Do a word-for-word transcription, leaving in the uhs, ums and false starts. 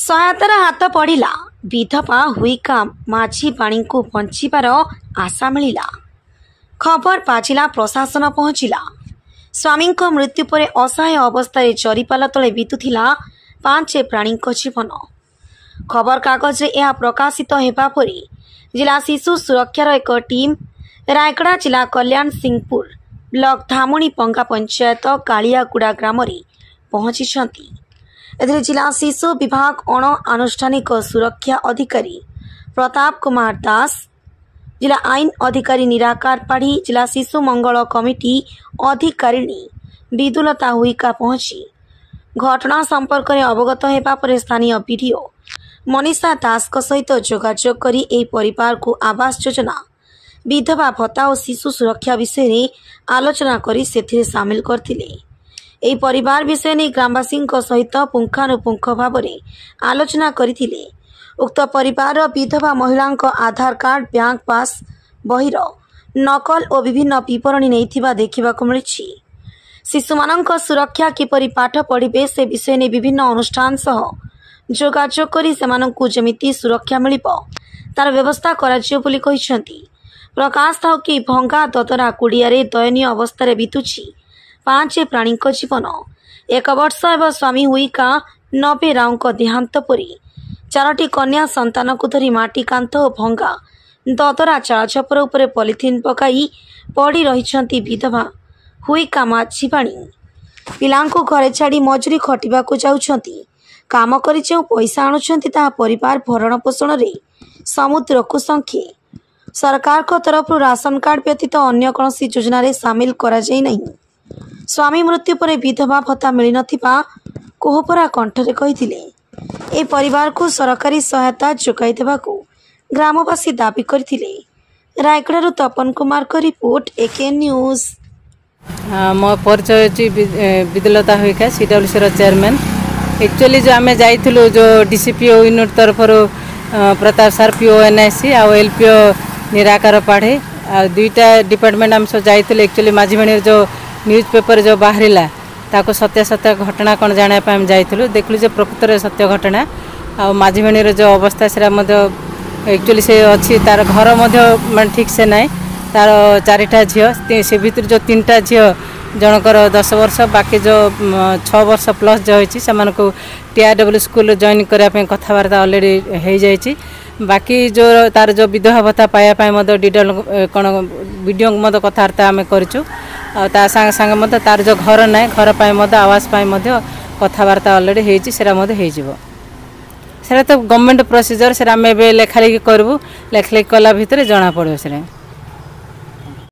ସହାୟତାର ହାତ ବଢ଼ିଲା। ବିଧବା ହୁଇକା ମାଝୀବାଣୀଙ୍କୁ ବଞ୍ଚିବାର ଆଶା ମିଳିଲା। ଖବର ବାଜିଲା, ପ୍ରଶାସନ ପହଞ୍ଚିଲା। ସ୍ୱାମୀଙ୍କ ମୃତ୍ୟୁ ପରେ ଅସହାୟ ଅବସ୍ଥାରେ ଜରିପାଲ ତଳେ ବିତୁଥିଲା ପାଞ୍ଚ ପ୍ରାଣୀଙ୍କ ଜୀବନ। ଖବରକାଗଜରେ ଏହା ପ୍ରକାଶିତ ହେବା ପରେ ଜିଲ୍ଲା ଶିଶୁ ସୁରକ୍ଷାର ଏକ ଟିମ୍ ରାୟଗଡ଼ା ଜିଲ୍ଲା କଲ୍ୟାଣସିଂହପୁର ବ୍ଲକ ଧାମୁଣିପଙ୍ଗା ପଞ୍ଚାୟତ କାଳିଆଗୁଡ଼ା ଗ୍ରାମରେ ପହଞ୍ଚିଛନ୍ତି। ଏଥିରେ ଜିଲ୍ଲା ଶିଶୁ ବିଭାଗ ଅଣ ଆନୁଷ୍ଠାନିକ ସୁରକ୍ଷା ଅଧିକାରୀ ପ୍ରତାପ କୁମାର ଦାସ, ଜିଲ୍ଲା ଆଇନ ଅଧିକାରୀ ନିରାକାର ପାଢ଼ୀ, ଜିଲ୍ଲା ଶିଶୁ ମଙ୍ଗଳ କମିଟି ଅଧିକାରିଣୀ ବିଦୁଲତା ହୁଇକା ପହଞ୍ଚି ଘଟଣା ସମ୍ପର୍କରେ ଅବଗତ ହେବା ପରେ ସ୍ଥାନୀୟ ବିଡିଓ ମନୀଷା ଦାସଙ୍କ ସହିତ ଯୋଗାଯୋଗ କରି ଏହି ପରିବାରକୁ ଆବାସ ଯୋଜନା, ବିଧବା ଭତ୍ତା ଓ ଶିଶୁ ସୁରକ୍ଷା ବିଷୟରେ ଆଲୋଚନା କରି ସେଥିରେ ସାମିଲ କରିଥିଲେ। ଏହି ପରିବାର ବିଷୟ ନେଇ ଗ୍ରାମବାସୀଙ୍କ ସହିତ ପୁଙ୍ଖାନୁପୁଙ୍ଖ ଭାବରେ ଆଲୋଚନା କରିଥିଲେ। ଉକ୍ତ ପରିବାରର ବିଧବା ମହିଳାଙ୍କ ଆଧାର କାର୍ଡ, ବ୍ୟାଙ୍କ ପାସ୍ ବହିର ନକଲ ଓ ବିଭିନ୍ନ ବିବରଣୀ ନେଇଥିବା ଦେଖିବାକୁ ମିଳିଛି। ଶିଶୁମାନଙ୍କ ସୁରକ୍ଷା, କିପରି ପାଠ ପଢ଼ିବେ ସେ ବିଷୟ ନେଇ ବିଭିନ୍ନ ଅନୁଷ୍ଠାନ ସହ ଯୋଗାଯୋଗ କରି ସେମାନଙ୍କୁ ଯେମିତି ସୁରକ୍ଷା ମିଳିବ ତାର ବ୍ୟବସ୍ଥା କରାଯିବ ବୋଲି କହିଛନ୍ତି। ପ୍ରକାଶ ଥାଉ କି, ଭଙ୍ଗା ଦଦରା କୁଡ଼ିଆରେ ଦୟନୀୟ ଅବସ୍ଥାରେ ବିତୁଛି ପାଞ୍ଚ ପ୍ରାଣୀଙ୍କ ଜୀବନ। ଏକ ବର୍ଷ ହେବ ସ୍ୱାମୀ ହୁଇକା ନବେ ରାଓଙ୍କ ଦେହାନ୍ତ ପରେ ଚାରୋଟି କନ୍ୟା ସନ୍ତାନକୁ ଧରି ମାଟି କାନ୍ଥ ଓ ଭଙ୍ଗା ଦଦରା ଚାଳଛପର ଉପରେ ପଲିଥିନ୍ ପକାଇ ପଡ଼ି ରହିଛନ୍ତି ବିଧବା ହୁଇକା ମାଝୀବାଣୀ। ପିଲାଙ୍କୁ ଘରେ ଛାଡ଼ି ମଜୁରୀ ଖଟିବାକୁ ଯାଉଛନ୍ତି। କାମ କରି ଯେଉଁ ପଇସା ଆଣୁଛନ୍ତି, ତାହା ପରିବାର ଭରଣ ପୋଷଣରେ ସମୁଦ୍ରକୁ ଶଙ୍ଖେ। ସରକାରଙ୍କ ତରଫରୁ ରାସନ କାର୍ଡ ବ୍ୟତୀତ ଅନ୍ୟ କୌଣସି ଯୋଜନାରେ ସାମିଲ କରାଯାଇ ନାହିଁ। ସ୍ୱାମୀ ମୃତ୍ୟୁ ପରେ ବିଧବା ଭତ୍ତା ମିଳିନଥିବା କୋହଭରା କଣ୍ଠରେ କହିଥିଲେ। ଏହି ପରିବାରକୁ ସରକାରୀ ସହାୟତା ଯୋଗାଇ ଦେବାକୁ ଗ୍ରାମବାସୀ ଦାବି କରିଥିଲେ। ରାୟଗଡ଼ାରୁ ତପନ କୁମାରଙ୍କ ରିପୋର୍ଟ, ଏକେ ନ୍ୟୁଜ୍। ମୋ ପରିଚୟ ହେଉଛି ବିଦୁଲତା ହୁଇକା, ସି ଡବ୍ଲ୍ୟୁ ସିର ଚେୟାରମ୍ୟାନ୍। ଆକ୍ଚୁଆଲି ଯେଉଁ ଆମେ ଯାଇଥିଲୁ, ଯେଉଁ D C P O unit ତରଫରୁ Pratap sir, P O N I C ଆଉ L P O Nirakar Padhi ଆଉ ଦୁଇଟା ଡିପାର୍ଟମେଣ୍ଟ ଆମେ ସବୁ ଯାଇଥିଲୁ। ଆକ୍ଚୁଆଲି ମାଝୀବାଣୀର ଯେଉଁ ନ୍ୟୁଜ୍ ପେପର ଯେଉଁ ବାହାରିଲା, ତାକୁ ସତ୍ୟାସତ୍ୟ ଘଟଣା କ'ଣ ଜାଣିବା ପାଇଁ ଆମେ ଯାଇଥିଲୁ। ଦେଖିଲୁ ଯେ ପ୍ରକୃତରେ ସତ୍ୟ ଘଟଣା ଆଉ ମାଝୀବାଣୀର ଯେଉଁ ଅବସ୍ଥା, ସେଟା ମଧ୍ୟ ଆକ୍ଚୁଆଲି ସେ ଅଛି, ତାର ଘର ମଧ୍ୟ ମାନେ ଠିକ୍ ସେ ନାହିଁ। ତାର ଚାରିଟା ଝିଅ, ସେ ଭିତରୁ ଯେଉଁ ତିନିଟା ଝିଅ, ଜଣଙ୍କର ଦଶ ବର୍ଷ, ବାକି ଯେଉଁ ଛଅ ବର୍ଷ ପ୍ଲସ୍ ଯେଉଁ ହେଇଛି, ସେମାନଙ୍କୁ ଟି ଆର୍ ଡବ୍ଲ୍ୟୁ ସ୍କୁଲରେ ଜଏନ୍ କରିବା ପାଇଁ କଥାବାର୍ତ୍ତା ଅଲରେଡ଼ି ହେଇଯାଇଛି। ବାକି ଯେଉଁ ତାର ଯେଉଁ ବିଧବା ଭତ୍ତା ପାଇବା ପାଇଁ ମଧ୍ୟ ଡି ଡବ୍ଲ୍ୟୁ କ'ଣ ବିଡ଼ିଓଙ୍କୁ ମଧ୍ୟ କଥାବାର୍ତ୍ତା ଆମେ କରିଛୁ। ଆଉ ତା ସାଙ୍ଗେ ସାଙ୍ଗେ ମଧ୍ୟ ତାର ଯେଉଁ ଘର ନାହିଁ, ଘର ପାଇଁ ମଧ୍ୟ, ଆବାସ ପାଇଁ ମଧ୍ୟ କଥାବାର୍ତ୍ତା ଅଲରେଡ଼ି ହେଇଛି, ସେଟା ମଧ୍ୟ ହେଇଯିବ। ସେଟା ତ ଗଭର୍ଣ୍ଣମେଣ୍ଟ ପ୍ରୋସିଜର, ସେଟା ଆମେ ଏବେ ଲେଖାଲେଖି କରିବୁ। ଲେଖାଲେଖି କଲା ଭିତରେ ଜଣାପଡ଼ିବ ସେଟା।